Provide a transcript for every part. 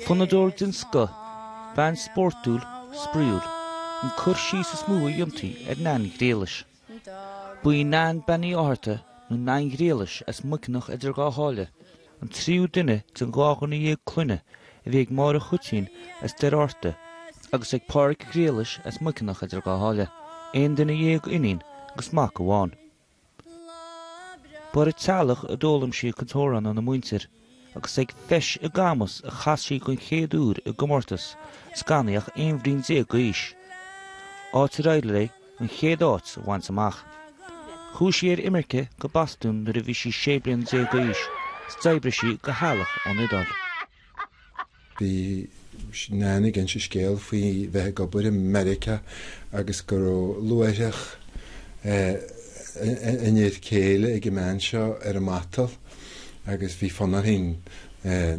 Fonnadóir den scoth, bean spórtúil, spraíúil, an cur síos is mó a dhéantaí ar Nan Ghriallais. Ba í Nan Bean Uí Fhátharta, nó Nan Ghriallais as Muiceanach idir Dhá Sháile, an tríú duine den dá dhuine dhéag clainne a bhí ag Máire Chaitlín as Doire Fhatharta agus ag Pádraig Ghriallais as Muiceanach idir Dhá Sháile, aon duine dhéag iníon agus mac amháin. Ba ar an teallach a d'fhoghlaim sí a cuid amhrán óna muintir agus ag Feis i gCamus a chas sí den chéad uair i gcomórtas is gan í ach 11 bhliain d'aois, áit ar éirigh léi an chéad áit a bhaint amach. Chuaigh sí ar imirce go Bostún nuair a bhí sí 16 bliana d'aois is d'oibrigh sí go heallach ón Iodáil. Bhí Nan ag inse scéal faoi bheith ag obair i Meiriceá agus go raibh luaithreach an fhir céile ag an mbean seo ar an matal agus bhí fonn uirthi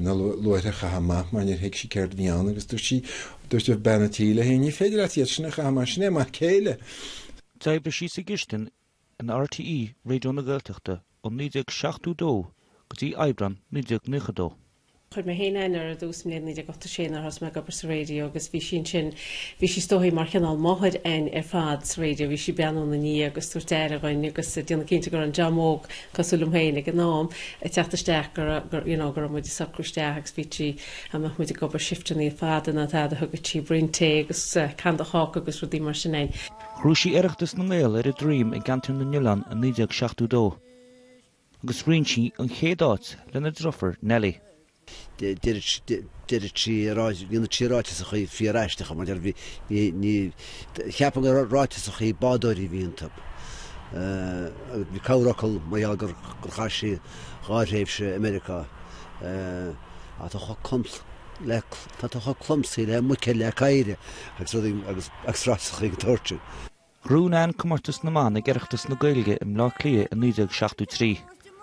na luaithreach a chaitheamh amach mar níor thuig sí céard a bhí ann agus dúirt sí, dúirt bean an tí léi, ní féidir leat iad sin a chaitheamh mar sin é m'fhear céile. D'oibrigh sí sa gcistin in RTÉ Raidió na Gaeltachta ó 1972 go dtí Aibreán 1992. Chuir mé féin aithne uirthi ar dtús sa mbliain 1986 nuair a thosaigh mé ag obair sa raidió agus bhí sí ansin, bhí sí is dóichí mar chineál máthair a'inn ar fad sa raidió, bhí sí ag breathnú ina ndiaidh agus tabhairt aire dhuinn agus ag déanamh cinnte go raibh an dream óg cosúil liom féin ag an am ag teacht isteach go raibh, go, you know, go raibh muid ag socrú isteach agus bhí sí, dá mbeadh muid ag obair shifteanna fada nó tada thugadh sí braon tae agus can de cháca agus rudaí mar sin a'inn. Ghnóthaigh sí Oireachtas na nGael ar a droim i gCeantar na nOileán i 1972 agus roinn sí an chéad áit lena deirfiúr Nellie. Deireadh sí, dhéanadh sí ráiteasachaí fíor-aisteacha mar deir, bhí, ní, ní, cheapfainn gur ráiteasachaí bádóirí a bhí iontu. Agus bhí corrfhocal mar gheall gur, gur chaith sí dhá thréimhse i Meiriceá. Tá tú chomh clum, le, tá tú chomh clumsaí le muic le caora agus rudaí agus, agus ráiteasachaí den tsórt sin. Ghnóthaigh Nan Comórtas na mBan ag Oireachtas na Gaeilge i mBleá Cliath i 1973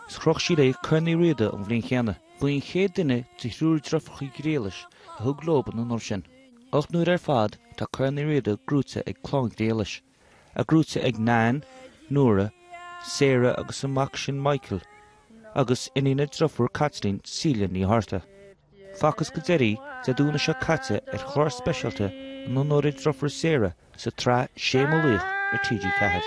is chroch sí léi Corn Uí Riada an bhliain chéanna. Ba í an chéad duine de thriúr deirfiúracha Ghriallais a thug leo an onóir sin. 8 n-uaire ar fad tá Corn Uí Riada gnóite ag clann Ghriallais, é gnóite ag Nan, Nóra, Sarah agus a mac sin Michael, agus iníon a deirfiúr Caitlín, Celia Ní Fhátharta. Facthas go deiridh Dé Domhnaigh seo caite ar chlár speisialta in onóir a deirfiúr Sarah sa tsraith Sé Mo Laoch ar TG4.